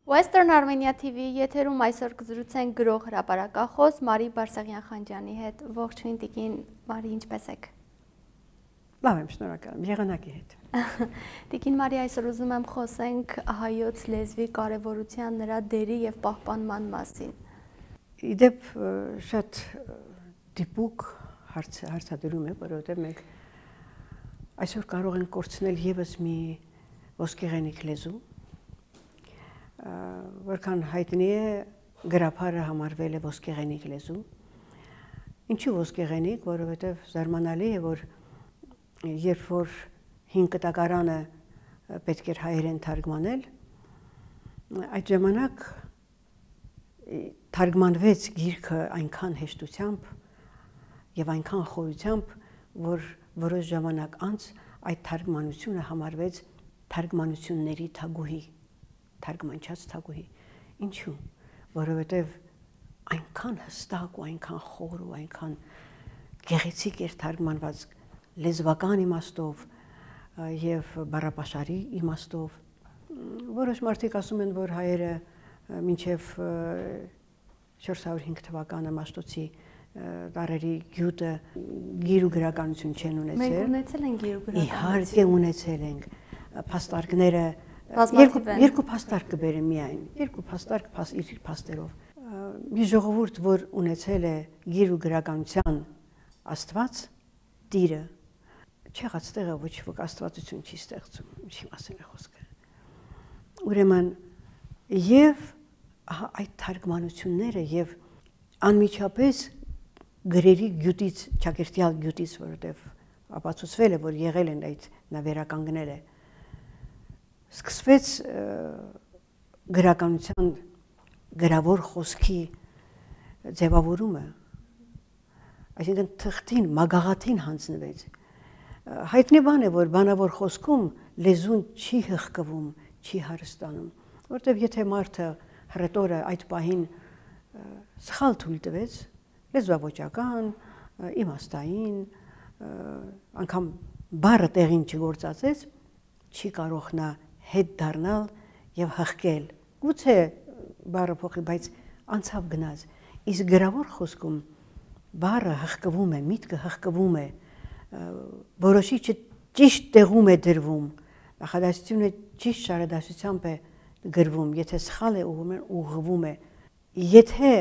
Western Armenia TV եթերում այսօր կզրուցենք գրող հրապարակախոս Մարի Բարսեղյան-Խանջյանի հետ։ Ողջույն տիկին Մարի, ինչպե՞ս եք։ Լավ եմ, շնորհակալ եմ, եղանակի հետ։ Տիկին Մարի, այսօր ուզում եմ խոսենք հայոց լեզվի կարևորության, նրա դերի եւ պահպանման մասին։ Իդեպ շատ դիպուկ հարցադրում է, որովհետեւ մենք այսօր կարող ենք կորցնել եւս մի ոսկեղենիկ լեզու, որքան հայտնի է գրաբարը համարվել է ոսկեղենիկ լեզու։ Ինչու ոսկեղենիկ, որովհետև զարմանալի է, որ երբ որ 5 կտակարանը պետք էր հայերեն թարգմանել, այդ ժամանակ թարգմանվեց գիրքը այնքան հեշտությամբ եւ այնքան խորությամբ, որ որոշ ժամանակ անց այդ թարգմանությունը համարվեց թարգմանությունների թագուհի, թարգմանչած թագուհի։ Ինչու՞, որովհետև այնքան հստակ ու այնքան խոր ու այնքան գեղեցիկ էր թարգմանված լեզվական իմաստով եւ բառապաշարի իմաստով։ Որոշ մարդիկ ասում են, որ հայերը մինչև 405 թվականը Մաշտոցի տարերի գյուտը գիր ու գրականություն չեն ունեցել։ Մենք ունեցել ենք գիր ու գրականություն։ Իհարկե ունեցել ենք փաստարկները երկու փաստարկ կբերեմ միայն, երկու փաստարկ իր փաստերով։ Մի ժողովուրդ, որ ունեցել է գիր ու գրականության Աստված, Տիրը, չեղած տեղը ոչ ոք աստվածություն չի ստեղծում, ինչի մասին է խոսքը։ Ուրեմն եւ այդ թարգմանությունները եւ անմիջապես գրերի գյուտից, ճակերտյալ գյուտից, որովհետեւ ապացուցվել է, որ եղել են այդ նավերականգնել է, սկսվեց գրականության գրավոր խոսքի ձևավորումը, այսինքն թղթին, մագաղաթին հանձնվեց։ Հայտնի բան է, որ բանավոր խոսքում լեզուն չի հղկվում, չի հարստանում, որտեղ եթե մարդը հռետորը այդ պահին սխալ թույլ տվեց, լեզվաոճական, իմաստային, անգամ բառը տեղին չգործածեց, չի կարող նա հետ դառնալ եւ հղկել։ Գուցե բառը փոխի, բայց անցավ գնաց։ Իսկ գրավոր խոսքում բառը հղկվում է, միտքը հղկվում է, որոշիչը ճիշտ տեղում է դրվում, նախադասությունը ճիշտ շարադասությամբ է գրվում, եթե սխալ է ուղղվում է։ Եթե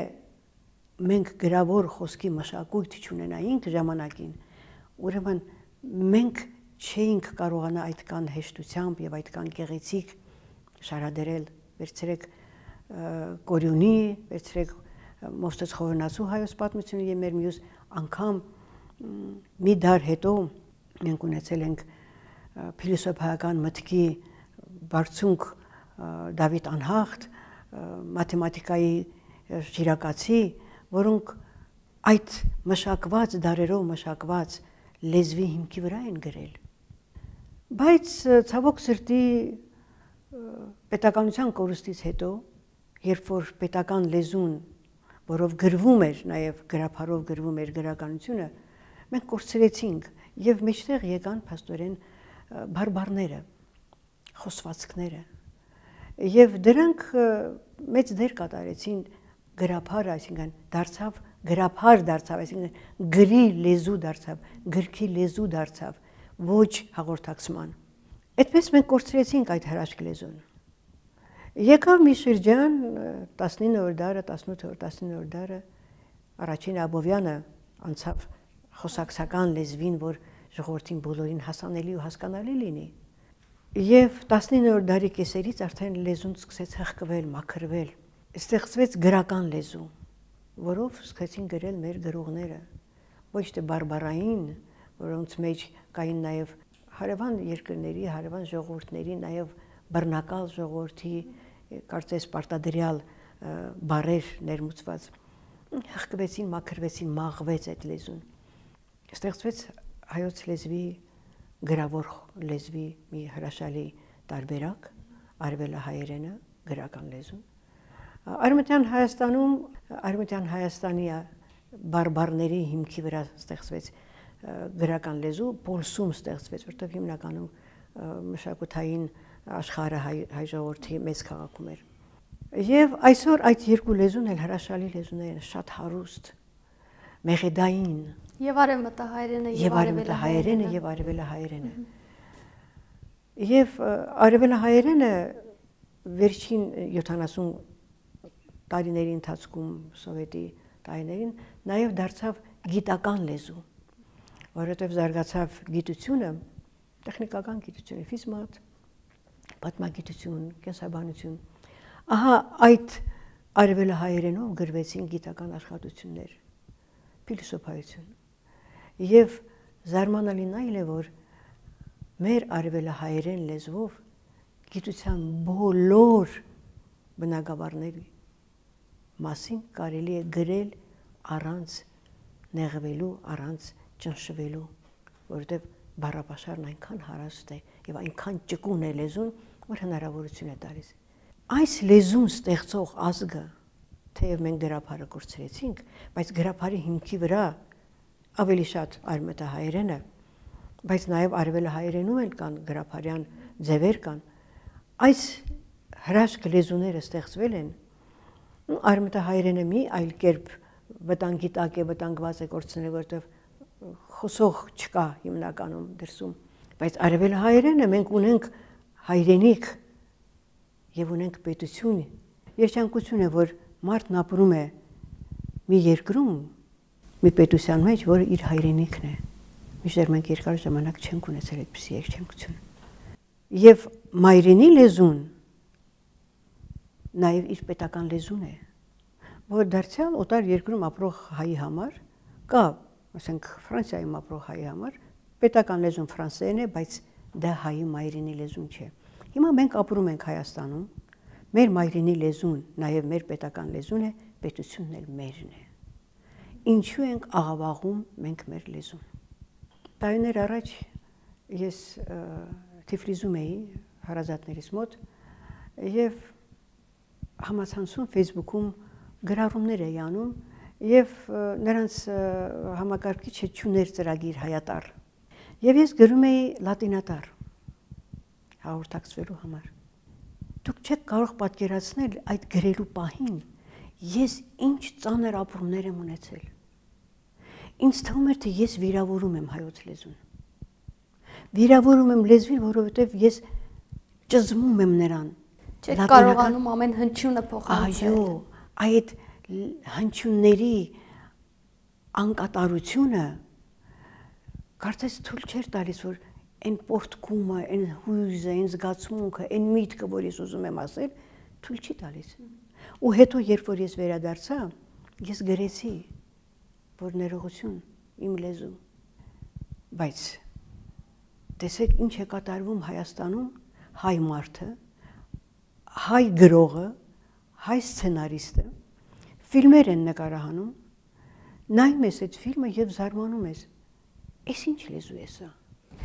մենք գրավոր խոսքի մշակույթ չունենայինք ժամանակին, ուրեմն մենք չէինք կարողանա այդքան հեշտությամբ եւ այդքան գեղեցիկ շարադրել, վերցրեք Կորյունի, վերցրեք Մովսես Խորենացու հայոց պատմությունը եւ մեր մյուս անգամ մի դար հետո մենք ունեցել ենք փիլիսոփայական մտքի բարձունք Դավիթ Անհախտ, մաթեմատիկայի շիրակացի, որոնք այդ մշակված դարերով մշակված լեզվի հիմքի վրա են գրել։ Բայց ցավոք սրտի պետականության կորուստից հետո, երբ որ պետական լեզուն, որով գրվում էր, նաև գրաբարով գրվում էր գրականությունը, մենք կորցրեցինք եւ մեջտեղ եկան փաստորեն բարբառները, խոսվածքները։ Եվ դրանք մեծ դեր կատարեցին գրաբարը, այսինքն դարձավ գրաբար դարձավ, այսինքն գրի լեզու դարձավ, գրքի լեզու դարձավ, ոչ հաղորդակցման։ Այդպես մենք կորցրեցինք այդ հրաշք լեզուն։ Եկավ մի շրջան 19-րդ դարը, 18-19-րդ դարը առաջին Աբովյանը անցավ խոսակցական լեզվին, որ ժողովրդին բոլորին հասանելի ու հասկանալի լինի։ Եվ 19-րդ դարի կեսերից արդեն լեզուն սկսեց հղկվել, մաքրվել, ստեղծվեց գրական լեզու, որով սկսեցին գրել մեր գրողները, ոչ թե բարբառային, որոնց մեջ կային նաև հարևան երկրների, հարևան ժողովուրդների, նաև բռնակալ ժողովրդի, կարծես պարտադրյալ բառեր ներմուծված, հղկվեցին, մաքրվեցին, մաղվեց այդ լեզուն։ Ստեղծվեց հայոց լեզվի, գրավոր լեզվի մի հրաշալի տարբերակ, արևելահայերենը, գրական լեզուն։ Արևմտյան Հայաստանում, Արևմտյան Հայաստանի բարբառների հիմքի վրա ստեղծվեց գրական լեզու, Պոլսում ստեղծվեց, որտեղ հիմնականում մշակութային աշխարհը հայ ժողովրդի մեծ քաղաքում էր։ Եվ այսօր այդ երկու լեզուն էլ հրաշալի լեզուներ են, շատ հարուստ, մեղեդային։ Եվ արևմտահայերենը, եւ արևելահայերենը եւ արևելահայերենը։ Եվ արևելահայերենը վերջին 70 տարիների ընթացքում սովետի տարիներին նաեւ դարձավ գիտական լեզու, որովհետեւ զարգացավ գիտությունը, տեխնիկական գիտությունը, ֆիզմատ, պատմագիտություն, կենսաբանություն։ Ահա այդ արևելահայերենով գրվեցին գիտական աշխատություններ, փիլիսոփայություն։ Եվ զարմանալին այլ է, որ մեր արևելահայերեն լեզվով գիտության բոլոր բնագավառների մասին կարելի է գրել առանց նեղվելու, առանց ճնշվելու, որովհետև բառապաշարն այնքան հարուստ է եւ այնքան ճկուն է լեզուն, որ հնարավորություն է տալիս։ Այս լեզուն ստեղծող ազգը, թեև մենք գրաբարը կորցրեցինք, բայց գրաբարի հիմքի վրա ավելի շատ արևմտահայերենը, բայց նաև արևելահայերենում էլ կան գրաբարյան ձևեր կան։ Այս հրաշք լեզուները ստեղծվել են, արևմտահայերենը մի այլ կերպ վտանգի տակ է, վտանգված է կորցնել, որովհետև խոսող չկա հիմնականում դրսում, բայց արևելահայերենը մենք ունենք հայրենիք եւ ունենք պետություն։ Երջանկություն է, որ մարդն ապրում է մի երկրում, մի պետության մեջ, որը իր հայրենիքն է։ Միշտ մենք երկար ժամանակ չենք ունեցել այդպիսի երջանկություն։ Եվ մայրենի լեզուն նաեւ իր պետական լեզուն է, որ դարձյալ օտար երկրում ապրող հայի համար կա, ասենք Ֆրանսիայում ապրող հայի համար պետական լեզուն ֆրանսերեն է, բայց դա հայի մայրենի լեզուն չէ։ Հիմա մենք ապրում ենք Հայաստանում, մեր մայրենի լեզուն, նաև մեր պետական լեզուն է, պետությունն էլ մերն է։ Ինչու ենք աղավաղում մենք մեր լեզուն։ Տարիներ առաջ ես Թիֆլիսում էի հարազատներիս մոտ եւ համացանցում Facebook-ում գրառումներ էի անում եւ նրանց համակարգիչը չուներ ծրագիր հայատառ։ Եվ ես գրում էի լատինատառ հաղորդակցվելու համար։ Դուք չեք կարող պատկերացնել այդ գրելու պահին, ես ինչ ծանր ապրումներ եմ ունեցել։ Ինձ թվում էր, թե ես վիրավորում եմ հայոց լեզուն։ Վիրավորում եմ լեզվին, որովհետև ես ճզմում եմ նրան։ Չեք կարողանում ամեն հնչյունը փոխանցել։ Այո, այդ հնչյունների անկատարությունը կարծես թույլ չէր տալիս, որ այն պորտկումը, այն հույզը, այն զգացմունքը, այն միտքը, որ ես ուզում եմ ասել, թույլ չի տալիս։ Ու հետո, երբ որ ես վերադարձա, ես գրեցի, որ ներողություն իմ լեզու։ Բայց տեսեք ինչ է կատարվում Հայաստանում հայ մարդը, հայ գրողը, հայ սցենարիստը, ֆիլմեր են նկարահանում, նայում ես այդ ֆիլմը եւ զարմանում ես։ Էս ինչ լեզու է սա։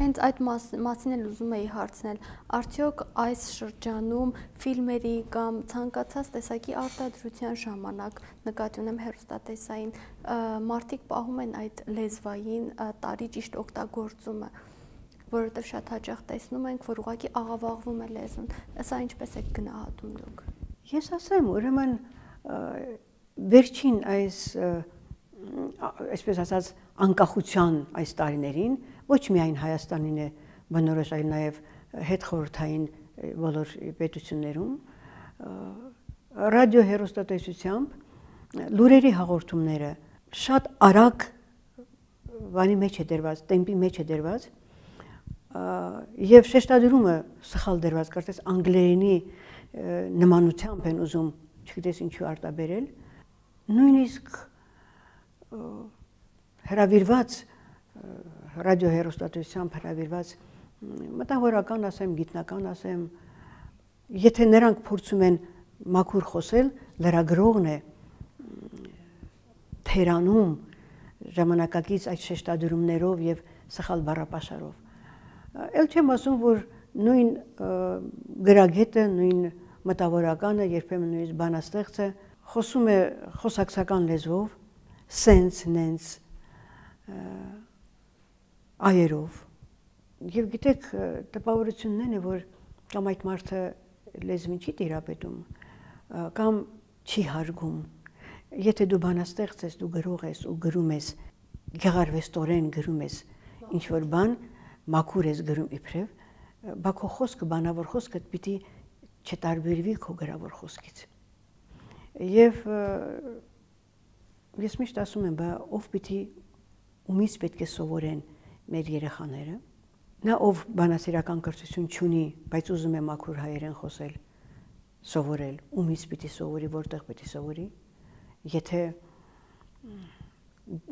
Հենց այդ մասին էլ ուզում էի հարցնել, արդյոք այս շրջանում ֆիլմերի կամ ցանկացած տեսակի արտադրության ժամանակ նկատի ունեմ հեռուստատեսային մարդիկ պահում են այդ լեզվային տարի ճիշտ օգտագործումը, որովհետև շատ հաճախ տեսնում ենք, որ ուղղակի աղավաղվում է լեզուն։ Սա ինչպես եք գնահատում դուք։ Ես ասեմ, ուրեմն վերջին այսպես ասած անկախության այս տարիներին ոչ միայն Հայաստանին է բնորոշ, այլ նաև հետխորհրդային բոլոր պետություններում ռադիո հեռուստատեսությամբ լուրերի հաղորդումները շատ արագ բանի մեջ է դրված, տեմպի մեջ է դրված եւ շեշտադրումը սխալ դրված, կարծես անգլերենի նմանությամբ են ուզում, չգիտես ինչու արտաբերել, նույնիսկ հրավիրված ռադիո հեռուստատեսությամբ հրավիրված մտավորական ասեմ, գիտնական ասեմ, եթե նրանք փորձում են մաքուր խոսել, լրագրողն է թերանում ժամանակակից այդ շեշտադրումներով եւ սխալ բառապաշարով։ Էլ չեմ ասում, որ նույն գրագետը, նույն մտավորականը, երբեմն նույնիսկ բանաստեղծը խոսում է խոսակցական լեզվով, սենց, նենց այերով։ Եվ գիտեք, տպավորությունն է, որ կամ այդ մարդը լեզվին չի տիրապետում, կամ չի հարգում։ Եթե դու բանաստեղծ ես, դու գրող ես ու գրում ես գեղարվեստորեն գրում ես ինչ որ բան, մաքուր ես գրում իբրև, բա քո խոսքը, բանավոր խոսքը պիտի չտարբերվի քո գրավոր խոսքից։ Եվ ես միշտ ասում եմ, բա ով պիտի ումից պետք է սովորեն մեր երեխաները, նա ով բանասիրական կրթություն չունի, բայց ուզում է մաքուր հայերեն խոսել, սովորել, ումից պիտի սովորի, որտեղ պիտի սովորի, եթե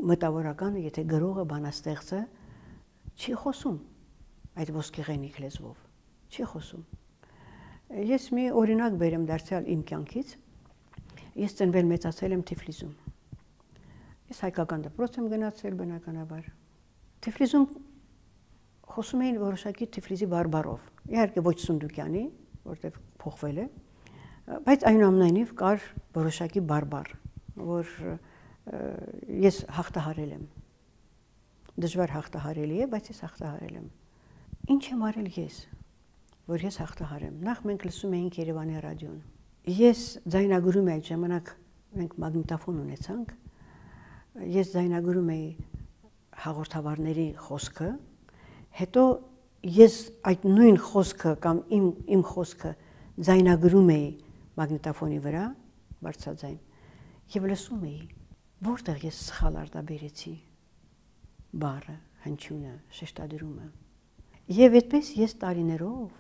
մտավորականը, եթե գրողը, բանաստեղծը չի խոսում այդ ոսկեղենիկ լեզվով, չի խոսում։ Ես մի օրինակ բերեմ դարձյալ իմ կյանքից, ես ծնվել մեծացել եմ Թիֆլիսում։ Ես հայկական դպրոց եմ գնացել բնականաբար։ Թիֆլիսում խոսում էին որոշակի Թիֆլիսի բարբառով, իհարկե ոչ Սունդուկյանի, որտեղ փոխվել է, բայց այնուամենայնիվ կար որոշակի բարբառ, որ ես հաղթահարել եմ։ Դժվար հաղթահարելի է, բայց ես հաղթահարել եմ։ Ինչ եմ արել ես, որ ես հաղթահարեմ։ Նախ մենք լսում էինք Երևանի ռադիոն։ Ես ձայնագրում էի այդ ժամանակ, մենք մագնիտոֆոն ունեցանք, ես ձայնագրում էի հաղորդավարների խոսքը, հետո ես այդ նույն խոսքը կամ իմ խոսքը ձայնագրում էի մագնիտոֆոնի վրա, բարձրաձայն, եւ լսում էի, որտեղ ես սխալ արտաբերեցի բառը, հնչյունը, շեշտադրումը։ Եվ այդպես ես տարիներով,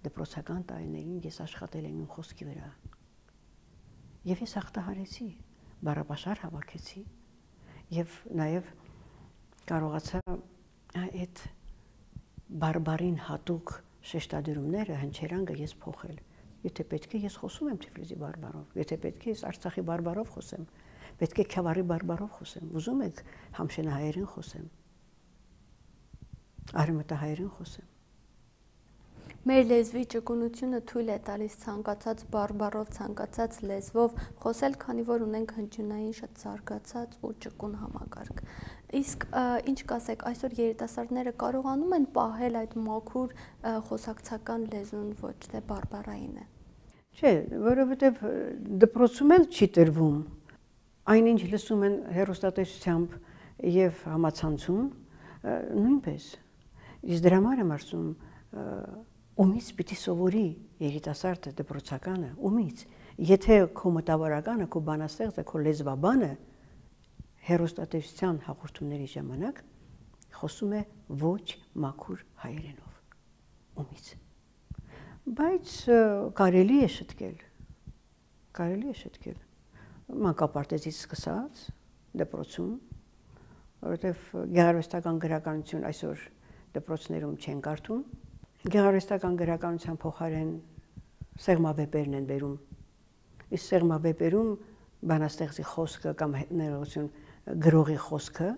դպրոցական տարիներին ես աշխատել եմ իմ խոսքի վրա։ Եվ ես հաղթահարեցի, բառապաշար հավաքեցի եւ նաեւ կարողացա այդ բարբարին հատուկ շեշտադրումները, հնչերանգը ես փոխել։ Եթե պետք է ես խոսում եմ Թիֆլիսի բարբառով, եթե պետք է ես Արցախի բարբառով խոսեմ, պետք է Քյավառի բարբառով խոսեմ, ուզում եք համշենահայերեն խոսեմ, արևմտահայերեն խոսեմ։ Մեր լեզվի ճկունությունը թույլ է տալիս ցանկացած բարբառով, ցանկացած լեզվով խոսել, քանի որ ունենք հնչյունային շատ զարգացած ու ճկուն համակարգ։ Իսկ ինչ կասեք, այսօր երիտասարդները կարողանում են պահել այդ մաքուր խոսակցական լեզուն, ոչ թե բարբառայինը։ Չէ, որովհետև դպրոցում էլ չի տրվում։ Այնինչ լսում են հեռուստատեսությամբ եւ համացանցում, նույնպես։ Իսկ դրա համար եմ ասում, ումից պիտի սովորի երիտասարդը դպրոցականը, ումից։ Եթե քո մտավորականը, քո բանաստեղծը, քո լեզվաբանը հեռուստատեսության հաղորդումների ժամանակ խոսում է ոչ մաքուր հայերենով, ումից։ Բայց կարելի է շտկել, մանկապարտեզից սկսած դպրոցում, որովհետև գեղարվեստական գրականություն այսօր դպրոցներում չեն կարդում, գեղարվեստական գրականության փոխարեն սեղմավեպերն են բերում, իսկ սեղմավեպերում բանաստեղծի խոսքը կամ ներողություն գրողի խոսքը,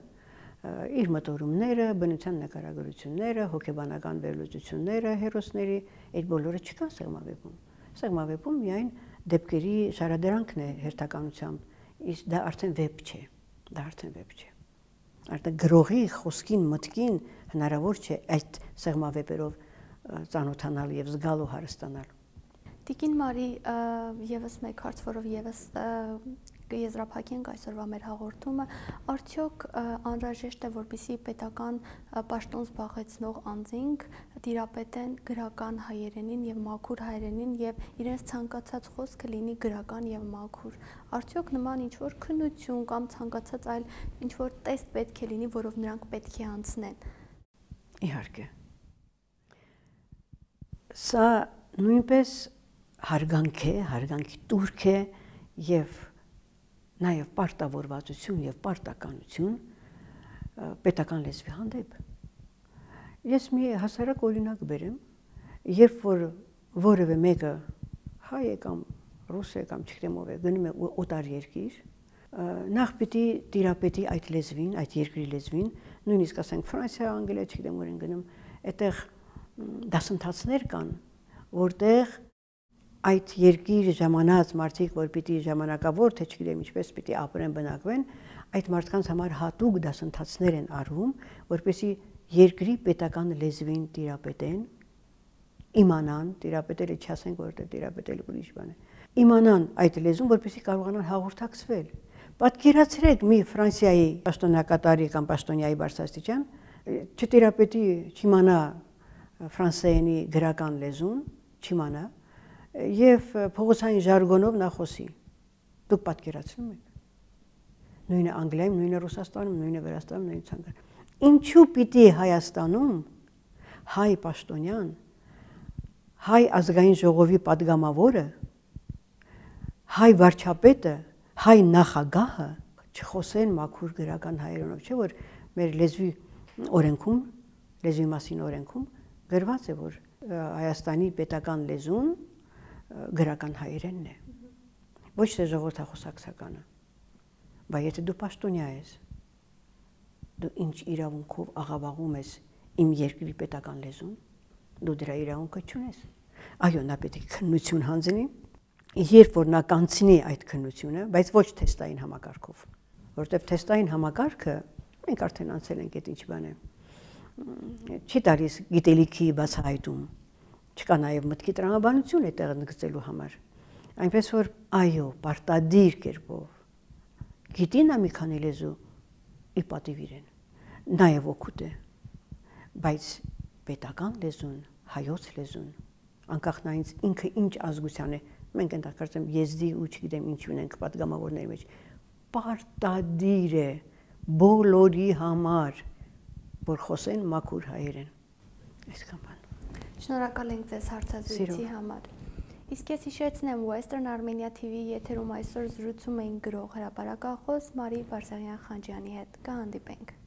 իր մտորումները, բնության նկարագրությունները, հոգեբանական վերլուծությունները հերոսների, այդ բոլորը չկան սեղմավեպում։ Սեղմավեպում միայն դեպքերի շարադրանքն է հերթականությամբ, իսկ դա արդեն վեպ չէ, Արդեն գրողի խոսքին, մտքին հնարավոր չէ այդ սեղմավեպերով ծանոթանալ եւ զգալ ու հարստանալ։ Տիկին Մարի, եւս մեկ հարց, որով եւս կեզրափակենք այսօրվա մեր հաղորդումը, արդյոք անհրաժեշտ է, որպեսզի պետական պաշտոն զբաղեցնող անձինք տիրապետեն գրական հայերենին եւ մաքուր հայերենին եւ իրենց ցանկացած խոսքը լինի գրական եւ մաքուր։ Արդյոք նման ինչ որ քննություն կամ ցանկացած այլ ինչ որ տեստ պետք է լինի, որով նրանք պետք է անցնեն։ Իհարկե։ Սա նույնպես հարգանքի տուրք է եւ նաեւ պարտավորվածություն եւ պարտականություն պետական լեզվի հանդեպ։ Ես մի հասարակ օրինակ բերեմ, երբ որ որևէ մեկը հայ է կամ ռուս է կամ չգիտեմ ով է գնում է օտար երկիր, նախ պիտի տիրապետի այդ լեզվին, այդ երկրի լեզվին, նույնիսկ ասենք Ֆրանսիա, Անգլիա, չգիտեմ ուր են գնում, այդտեղ դասընթացներ կան, որտեղ այդ երկիր ժամանած մարդիկ, որ պիտի ժամանակավոր, թե չգիտեմ ինչպես պիտի ապրեն, բնակվեն, այդ մարդկանց համար հատուկ դասընթացներ են արվում, որպեսզի երկրի պետական լեզվին տիրապետեն, իմանան, տիրապետելը չասենք, որտեղ տիրապետել ուրիշ բան է, իմանան այդ լեզուն, որպեսզի կարողանան հաղորդակցվել։ Պատկերացրեք մի Ֆրանսիայի պաշտոնակատարի կամ պաշտոնյայի բարձրաստիճան չտիրապետի, չիմանա ֆրանսերենի գրական լեզուն, չիմանա եւ փողոցային ժարգոնով նա խոսի։ Դուք պատկերացնում եք։ Նույնը Անգլիայում, նույնը Ռուսաստանում, նույնը Վրաստանում, նույնը ցանկանում։ Ինչու պիտի Հայաստանում հայ պաշտոնյան, հայ ազգային ժողովի падգամավորը, հայ վարչապետը, հայ նախագահը չխոսեն մաքուր գրական հայերենով, չէ՞ որ մեր լեզվի օրենքում, լեզվի մասին օրենքում գրված է, որ Հայաստանի պետական լեզուն գրական հայերենն է։ Ոչ թե ժողովրդախոսակցականը։ Բայց եթե դու պաշտոնյա ես, դու ինչ իրավունքով աղավաղում ես իմ երկրի պետական լեզուն, դու դրա իրավունքը չունես։ Այո, նա պետք է քննություն հանձնի, երբ որ նա կանցնի այդ քննությունը, բայց ոչ թեստային համակարգով, որովհետև թեստային համակարգը մենք արդեն անցել ենք այդ ինչ բան է, չի տալիս գիտելիքի բացահայտում, չկա նաև մտքի տրամաբանություն այդտեղ ընդգծելու համար, այնպես որ այո, պարտադիր կերպով գիտի նա մի քանի լեզու իր պատիվ իրեն, նաև օգուտ է, բայց պետական լեզուն, հայոց լեզուն, անկախ նայից ինքը ինչ ազգության է, մենք ընդհանրապես կարծեմ եզդի ու չգիտեմ ինչ ունենք պատգամավորների մեջ, պարտադիր է բոլորի համար, որ խոսեն մաքուր հայերեն։ Այսքան բան։ Շնորհակալ ենք ձեզ հարցազրույցի համար։ Իսկ ես հիշեցնեմ Western Armenia TV եթերում այսօր զրուցում էինք գրող հրապարակախոս Մարի Բարսեղյան-Խանջյանի հետ։ Կհանդիպենք։